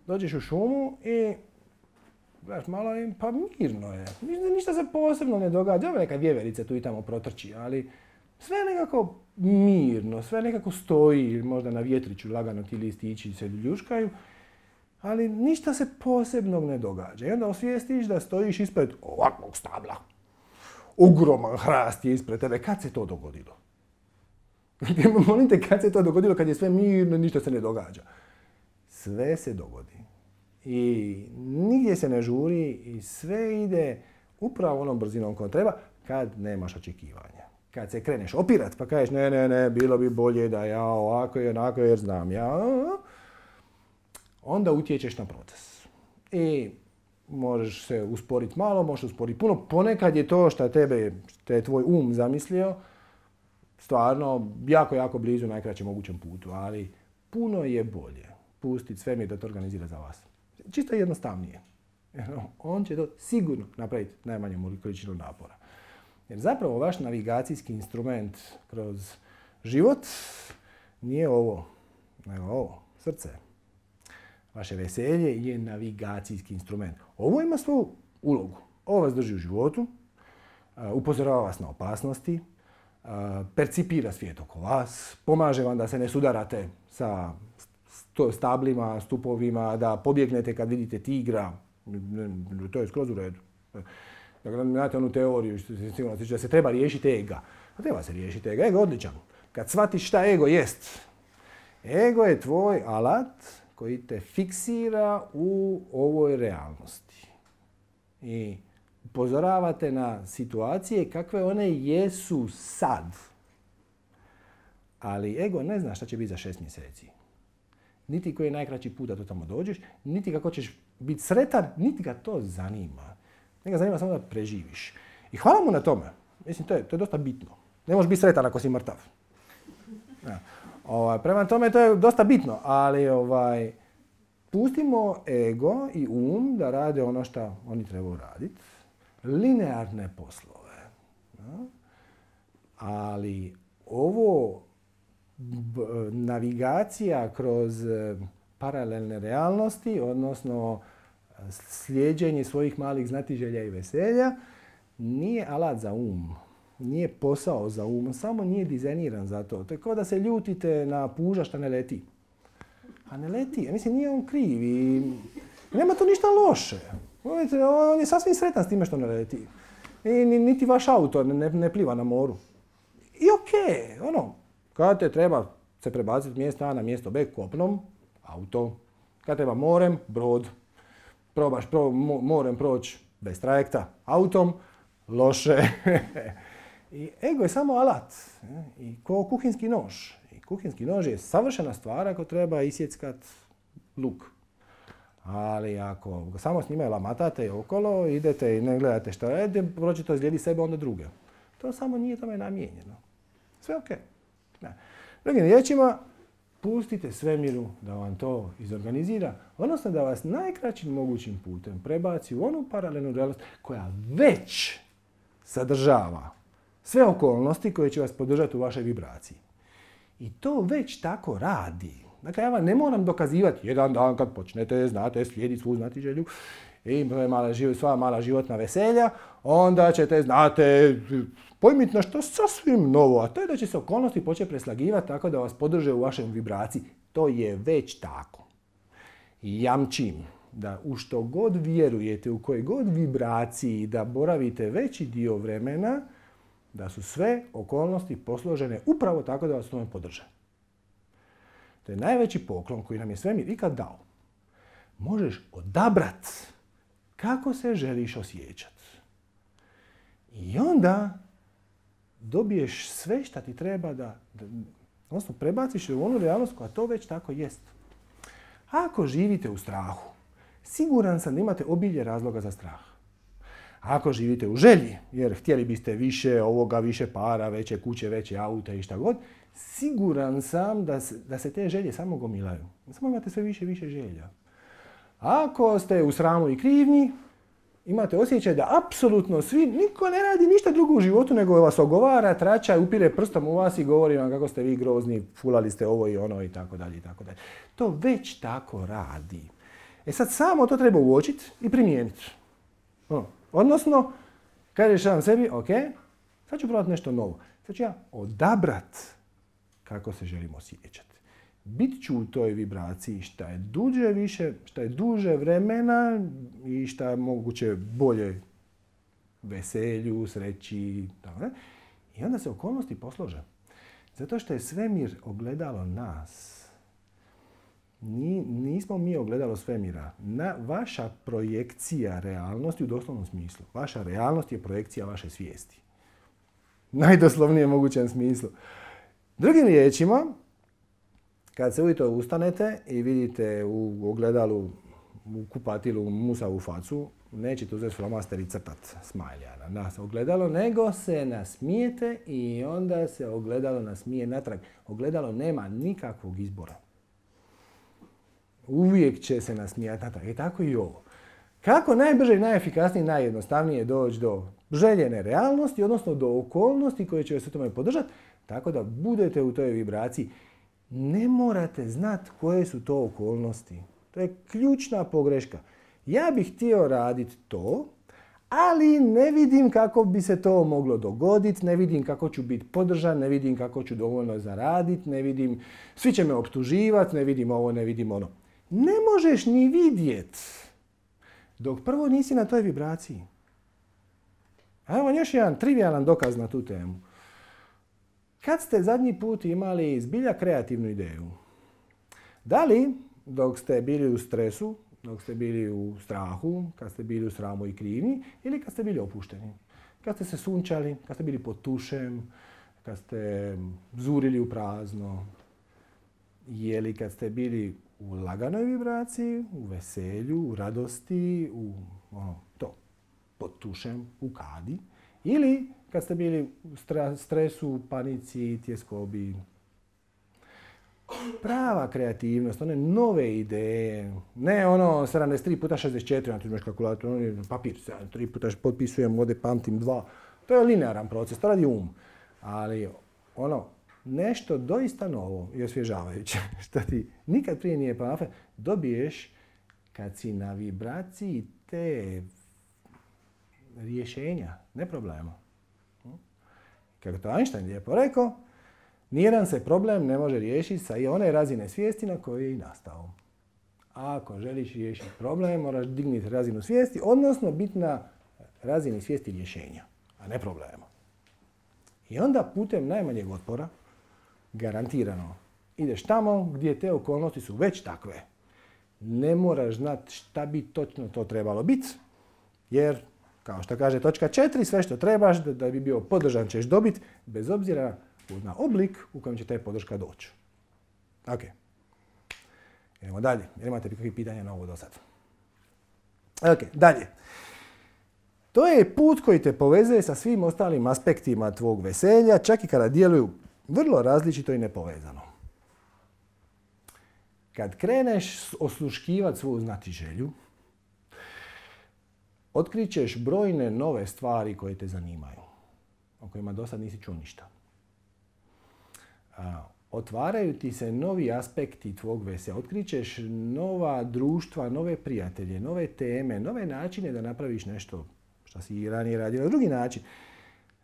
Dođeš u šumu i gledaš malo i pa mirno je. Ništa se posebno ne događa. Evo neka vjeverica tu i tamo protrči, ali sve nekako mirno, sve nekako stoji, možda na vjetriću lagano ti listići se ljuškaju, ali ništa se posebnog ne događa. I onda osvijestiš da stojiš ispred ovakvog stabla. Ogroman hrast je ispred tebe. Kad se to dogodilo? Molim te, kad se to dogodilo, kad je sve mirno, ništa se ne događa. Sve se dogodi. I nigdje se ne žuri i sve ide upravo onom brzinom koja treba kad nemaš očekivanja. Kad se kreneš opirat pa kažeš ne, ne, ne, bilo bi bolje da ja ovako i onako jer znam ja, onda utječeš na proces. I možeš se usporiti malo, možeš usporiti puno. Ponekad je to što tebe, što je tvoj um zamislio, stvarno jako, jako blizu najkraćem mogućem putu, ali puno je bolje pustiti svemir da to organizira za vas. Čisto jednostavnije. On će to sigurno napraviti najmanju količinu napora. Jer zapravo vaš navigacijski instrument kroz život nije ovo, nego ovo, srce. Vaše veselje je navigacijski instrument. Ovo ima svoju ulogu. Ovo vas drži u životu, upozorava vas na opasnosti, percipira svijet oko vas, pomaže vam da se ne sudarate sa stablima, stupovima, da pobjegnete kad vidite tigra. To je skroz u redu. Dakle, znate onu teoriju da se treba riješiti ega. A treba se riješiti ega. Ego je odličan. Kad shvatiš šta ego jest. Ego je tvoj alat koji te fiksira u ovoj realnosti. I upozoravate na situacije kakve one jesu sad. Ali ego ne zna šta će biti za šest mjeseci. Niti koji je najkraći put da to tamo dođeš, niti kako ćeš biti sretan, niti ga to zanima. Njega zanima samo da preživiš. I hvala mu na tome. Mislim, to je, to je dosta bitno. Ne možeš biti sretan ako si mrtav. Ja. Ovaj, prema tome, to je dosta bitno. Ali ovaj, pustimo ego i um da rade ono što oni trebaju raditi. Linearne poslove. Ja. Ali ovo b, navigacija kroz paralelne realnosti, odnosno slijeđenje svojih malih znatiželja i veselja, nije alat za um. nije posao za um, samo nije dizajniran za to. To je kao da se ljutite na puža što ne leti. A ne leti, ja mislim nije on kriv i nema tu ništa loše. On je sasvim sretan s time što ne leti. I niti vaš auto ne, ne pliva na moru. I okej, okay, ono, kada te treba se prebaciti mjesta A na mjesto B kopnom, auto. Kada treba morem, brod. Probaš pro, mo, morem proći bez trajekta, autom, loše. I ego je samo alat. I ko kuhinski nož. I kuhinski nož je savršena stvar ako treba isjeckat luk. Ali ako ga samo s njime lamatate okolo, idete i ne gledate što rade, proći to izgledati sebe, onda druge. To samo nije tome namijenjeno. Sve ok. Ne. Drugim riječima, pustite svemiru da vam to izorganizira, odnosno da vas najkraćim mogućim putem prebaci u onu paralelnu realnost koja već sadržava sve okolnosti koje će vas podržati u vašoj vibraciji. I to već tako radi. Dakle, ja vam ne moram dokazivati jedan dan kad počnete, znate, slijediti svu znatiželju i sva mala životna veselja, onda ćete, znate, pojmiti nešto sasvim novo, a to je da će se okolnosti početi preslagivati tako da vas podrže u vašem vibraciji. To je već tako. I jamčim da u što god vjerujete, u kojoj god vibraciji da boravite veći dio vremena, da su sve okolnosti posložene upravo tako da vas tome podrže. To je najveći poklon koji nam je svemir ikad dao. Možeš odabrat kako se želiš osjećati. I onda dobiješ sve što ti treba da, da odnosno prebaciš u onu realnost koja to već tako jest. Ako živite u strahu, siguran sam da imate obilje razloga za strah. Ako živite u želji, jer htjeli biste više ovoga, više para, veće kuće, veće aute i šta god, siguran sam da se, da se te želje samo gomilaju. Samo imate sve više i više želja. Ako ste u sramu i krivnji, imate osjećaj da apsolutno svi, niko ne radi ništa drugo u životu nego vas ogovara, trača, upire prstom u vas i govori vam kako ste vi grozni, fulali ste ovo i ono i tako dalje i tako dalje. To već tako radi. E sad samo to treba uočiti i primijeniti. No. Odnosno, kažeš sam sebi, ok, sad ću probati nešto novo. Sad ću ja odabrat kako se želim osjećati. Bit ću u toj vibraciji šta je duže više, šta je duže vremena i šta je moguće bolje veselju, sreći, tako ne? I onda se okolnosti poslože. Zato što je svemir ogledalo nas. Nismo mi ogledalo svemira. Na, vaša projekcija realnosti u doslovnom smislu. Vaša realnost je projekcija vaše svijesti. Najdoslovnijem mogućem smislu. Drugim riječima, kad se ujutro ustanete i vidite u ogledalu, u kupatilu musavu facu, nećete uzeti flomaster i crtat smajlja na nas ogledalo, nego se nasmijete i onda se ogledalo nasmije natrag. Ogledalo nema nikakvog izbora. Uvijek će se nasmijati natrag. I tako i ovo. Kako najbrže i najefikasnije i najjednostavnije doći do željene realnosti, odnosno do okolnosti koje će vas u tome podržati, tako da budete u toj vibraciji. Ne morate znati koje su to okolnosti. To je ključna pogreška. Ja bih htio raditi to, ali ne vidim kako bi se to moglo dogoditi, ne vidim kako ću biti podržan, ne vidim kako ću dovoljno zaraditi, ne vidim, svi će me optuživati, ne vidim ovo, ne vidim ono. Ne možeš ni vidjet dok prvo nisi na toj vibraciji. A evo još jedan trivijalan dokaz na tu temu. Kad ste zadnji put imali zbilja kreativnu ideju? Da li dok ste bili u stresu, dok ste bili u strahu, kad ste bili u sramu i krivnji, ili kad ste bili opušteni? Kad ste se sunčali, kad ste bili pod tušem, kad ste zurili u prazno, ili kad ste bili u laganoj vibraciji, u veselju, u radosti, u ono, to, pod tušem, u kadi, ili kad ste bili u stresu, panici, tjeskobi. Prava kreativnost, one nove ideje, ne ono sedamdeset tri puta šezdeset četiri, na uzmeš kalkulator, on papir, sedamdeset tri puta potpisujem, ovdje pamtim dva. To je linearan proces, to radi um. Ali ono, nešto doista novo i osvježavajuće, što ti nikad prije nije palo, dobiješ kad si na vibraciji te rješenja, ne problema. kako to Einstein lijepo rekao, nijedan se problem ne može riješiti sa i one razine svijesti na kojoj je i nastao. A ako želiš riješiti problem, moraš dignuti razinu svijesti, odnosno biti na razini svijesti rješenja, a ne problema. I onda putem najmanjeg otpora, garantirano, ideš tamo gdje te okolnosti su već takve. Ne moraš znati šta bi točno to trebalo biti, jer, kao što kaže točka četiri, sve što trebaš da, da bi bio podržan ćeš dobiti, bez obzira na oblik u kojem će te podrška doći. Ok. Idemo dalje. Imate kakvih pitanja na ovo do sad? Ok, dalje. To je put koji te povezuje sa svim ostalim aspektima tvog veselja, čak i kada djeluju vrlo različito i nepovezano. Kad kreneš osluškivati svoju znatiželju, otkrićeš brojne nove stvari koje te zanimaju, o kojima do sad nisi čuo ništa. A, otvaraju ti se novi aspekti tvog veselja, otkrićeš nova društva, nove prijatelje, nove teme, nove načine da napraviš nešto što si i ranije radio na drugi način.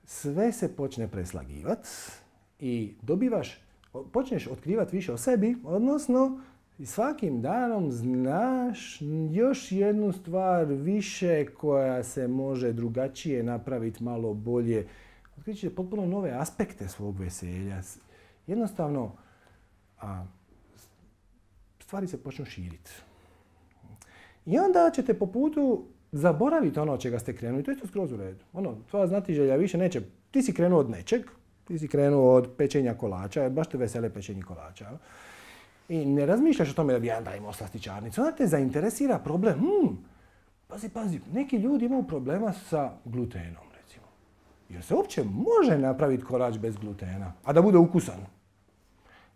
Sve se počne preslagivati i dobivaš, počneš otkrivati više o sebi, odnosno svakim danom znaš još jednu stvar više koja se može drugačije napraviti, malo bolje. Otkrićeš potpuno nove aspekte svog veselja. Jednostavno, a, stvari se počnu širiti. I onda ćete po putu zaboraviti ono od čega ste krenuli. To je isto skroz u redu. Ono, tvoja znatiželja više neće. Ti si krenuo od nečeg, ti si krenuo od pečenja kolača, baš te vesele pečenje kolača. I ne razmišljaš o tome da bi jedan dan imao slastičarnicu. Onda te zainteresira problem. Hmm, pazi, pazi, neki ljudi imaju problema sa glutenom, recimo. Jer se uopće može napraviti kolač bez glutena, a da bude ukusan.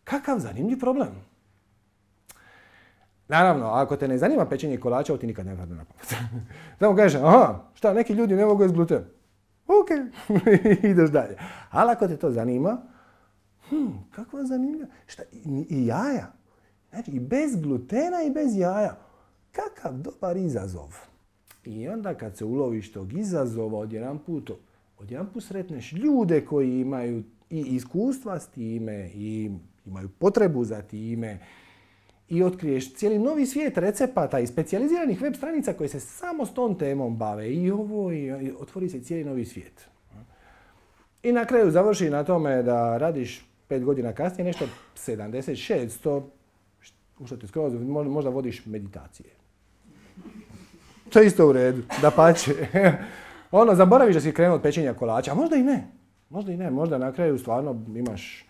Kakav zanimljiv problem. Naravno, ako te ne zanima pečenje kolača, ovo ti nikad ne padne na pamet. Samo kažeš, aha, šta, neki ljudi ne mogu jesti gluten. Ok, ideš dalje. Ali ako te to zanima, hm, kakva zanimljiva, šta, i, i jaja. Znači, i bez glutena i bez jaja. Kakav dobar izazov. I onda kad se uloviš tog izazova, odjedanput, odjedanput sretneš ljude koji imaju i iskustva s time, i imaju potrebu za time, i otkriješ cijeli novi svijet recepata i specijaliziranih web stranica koje se samo s tom temom bave. I ovo, i otvori se cijeli novi svijet. I na kraju završi na tome da radiš pet godina kasnije nešto sedamdeset šest, u što te skroz, možda vodiš meditacije. To je isto u redu, dapače. Ono, zaboraviš da si krenuo od pečenja kolača, a možda i ne. Možda i ne, možda na kraju stvarno imaš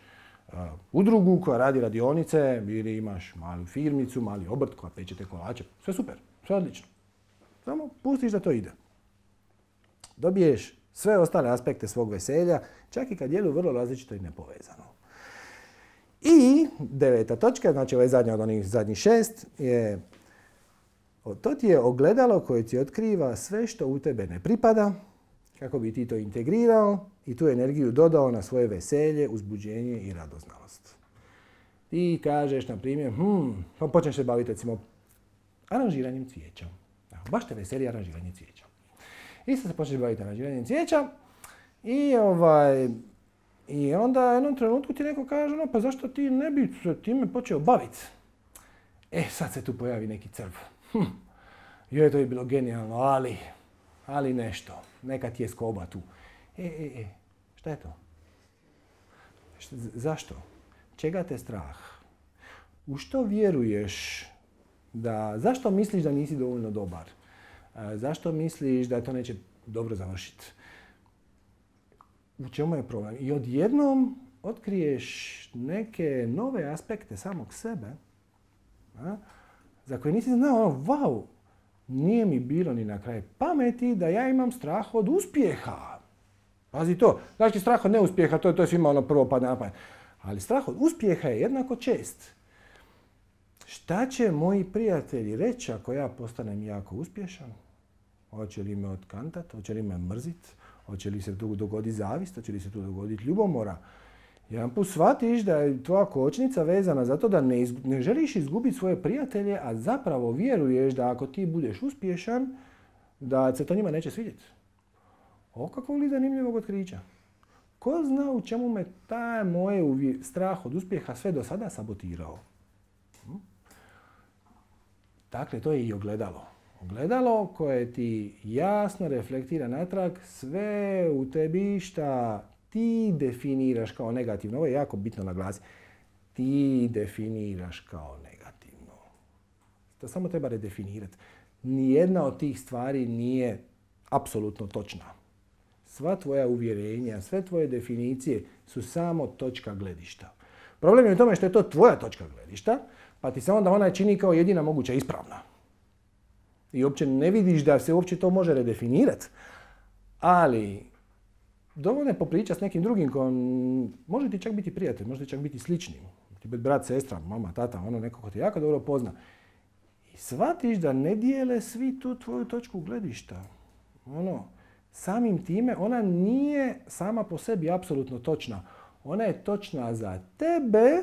uh, udrugu koja radi radionice ili imaš malu firmicu, mali obrt koja peče te kolače. Sve super, sve odlično. Samo pustiš da to ide. Dobiješ sve ostale aspekte svog veselja, čak i kad djeluju vrlo različito i nepovezano. I deveta točka, znači ovaj zadnja od onih zadnjih šest, je to ti je ogledalo koje ti otkriva sve što u tebe ne pripada, kako bi ti to integrirao i tu energiju dodao na svoje veselje, uzbuđenje i radoznalost. Ti kažeš, na primjer, hm, pa počneš se baviti, recimo, aranžiranjem cvijeća. Baš te veseli aranžiranje cvijeća. I sad se počneš baviti aranžiranjem cvijeća i ovaj... I onda u jednom trenutku ti neko kaže, no pa zašto ti ne bi se time počeo baviti? E, sad se tu pojavi neki crv. Hm. Joj, to je bilo genijalno, ali, ali nešto. Neka ti je skoba tu. E, e, e, šta je to? Šta, zašto? Čega te strah? U što vjeruješ da, zašto misliš da nisi dovoljno dobar? E, zašto misliš da to neće dobro završiti? U čemu je problem? I odjednom otkriješ neke nove aspekte samog sebe, a, za koje nisi znao, ono, wow, nije mi bilo ni na kraju pameti da ja imam strah od uspjeha. Pazi to, znači strah od neuspjeha, to, to je svima ono prvo padne na pamet. Ali strah od uspjeha je jednako čest. Šta će moji prijatelji reći ako ja postanem jako uspješan? Hoće li me otkantat, hoće li me mrzit? Hoće li se tu dogoditi zavist, hoće li se tu dogoditi ljubomora? Jedan put shvatiš da je tvoja kočnica vezana zato da ne, izgu, ne želiš izgubiti svoje prijatelje, a zapravo vjeruješ da ako ti budeš uspješan, da se to njima neće svidjeti. O kakvog li zanimljivog otkrića. ko zna u čemu me taj moj strah od uspjeha sve do sada sabotirao. Dakle, to je i ogledalo. Ogledalo koje ti jasno reflektira natrag sve u tebi šta ti definiraš kao negativno. Ovo je jako bitno naglasiti. Ti definiraš kao negativno. To samo treba redefinirati. Nijedna od tih stvari nije apsolutno točna. Sva tvoja uvjerenja, sve tvoje definicije su samo točka gledišta. Problem je u tome što je to tvoja točka gledišta, pa ti se onda ona čini kao jedina moguća ispravna. I uopće ne vidiš da se uopće to može redefinirati. Ali dovoljno je popričati s nekim drugim kojom može ti čak biti prijatelj, može ti čak biti slični. Ti biti brat, sestra, mama, tata, ono neko ko te jako dobro pozna. I shvatiš da ne dijele svi tu tvoju točku gledišta. Ono, samim time ona nije sama po sebi apsolutno točna. Ona je točna za tebe,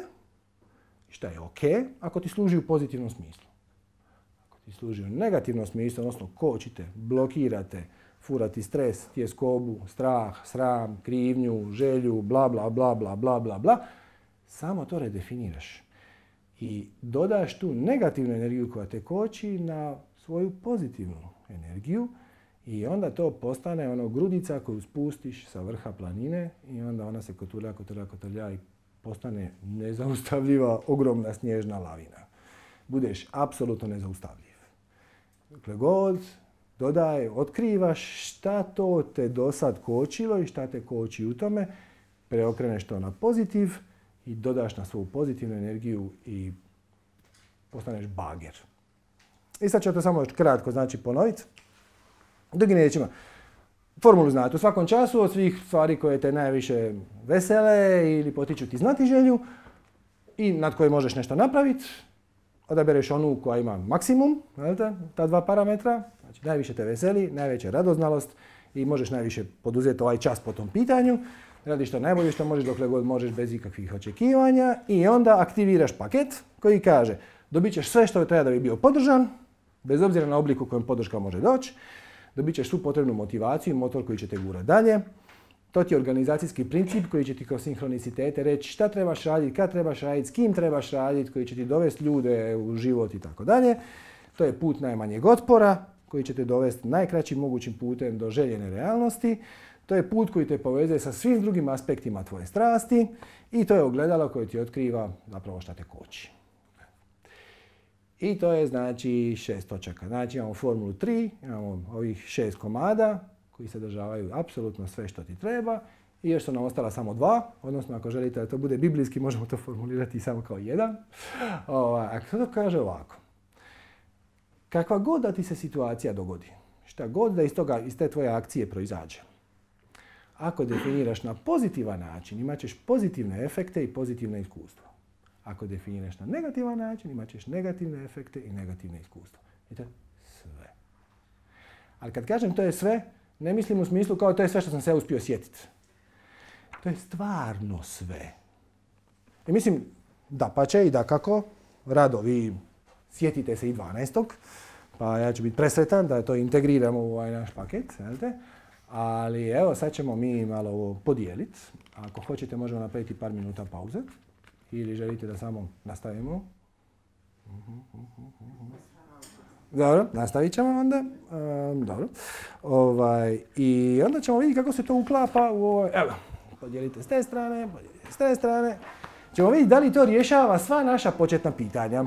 što je ok, ako ti služi u pozitivnom smislu. Ako ti služi u negativnom smislu, odnosno kočite, blokirate, furati stres, tjeskobu, strah, sram, krivnju, želju, bla, bla, bla, bla, bla, bla, bla, samo to redefiniraš. I dodaš tu negativnu energiju koja te koči na svoju pozitivnu energiju i onda to postane ono grudica koju spustiš sa vrha planine i onda ona se kotrlja, kotrlja, kotrlja i postane nezaustavljiva, ogromna snježna lavina. Budeš apsolutno nezaustavljiv. Dokle god dodaj, otkrivaš šta to te do sad kočilo i šta te koči u tome, preokreneš to na pozitiv i dodaš na svoju pozitivnu energiju i postaneš bager. I sad ću to samo još kratko znači ponoviti. Drugim riječima, formulu znate u svakom času od svih stvari koje te najviše vesele ili potiču ti znatiželju i nad koje možeš nešto napraviti, odabereš onu koja ima maksimum, ta dva parametra, znači najviše te veseli, najveća radoznalost i možeš najviše poduzeti ovaj čas po tom pitanju. Radiš to najbolje što možeš dokle god možeš bez ikakvih očekivanja i onda aktiviraš paket koji kaže dobit ćeš sve što treba da bi bio podržan, bez obzira na oblik u kojem podrška može doći, dobit ćeš svu potrebnu motivaciju i motor koji će te gurati dalje. To ti je organizacijski princip koji će ti kroz sinhronicitete reći šta trebaš raditi, kad trebaš raditi, s kim trebaš raditi, koji će ti dovesti ljude u život i tako dalje. To je put najmanjeg otpora koji će te dovesti najkraćim mogućim putem do željene realnosti. To je put koji te povezuje sa svim drugim aspektima tvoje strasti i to je ogledalo koje ti otkriva zapravo šta te koči. I to je znači šest točaka. Znači imamo formulu tri, imamo ovih šest komada koji sadržavaju apsolutno sve što ti treba i još su nam ostala samo dva, odnosno ako želite da to bude biblijski možemo to formulirati samo kao jedan. A to kaže ovako. Kakva god da ti se situacija dogodi, šta god da iz, toga, iz te tvoje akcije proizađe, ako definiraš na pozitivan način, imat ćeš pozitivne efekte i pozitivne iskustva. Ako definiraš na negativan način, imat ćeš negativne efekte i negativne iskustva. I to je sve. Ali kad kažem to je sve, ne mislim u smislu kao to je sve što sam se uspio sjetiti. To je stvarno sve. I mislim, dapače i dakako, rado vi sjetite se i dvanaestog pa ja ću biti presretan da to integriramo u ovaj naš paket. Znate? Ali evo, sad ćemo mi malo ovo podijeliti. Ako hoćete, možemo napraviti par minuta pauze. Ili želite da samo nastavimo? Dobro, nastavit ćemo onda. Um, dobro. Ovaj, I onda ćemo vidjeti kako se to uklapa u ovo. Evo, podijelite s te strane, podijelite s te strane. Ćemo vidjeti da li to rješava sva naša početna pitanja.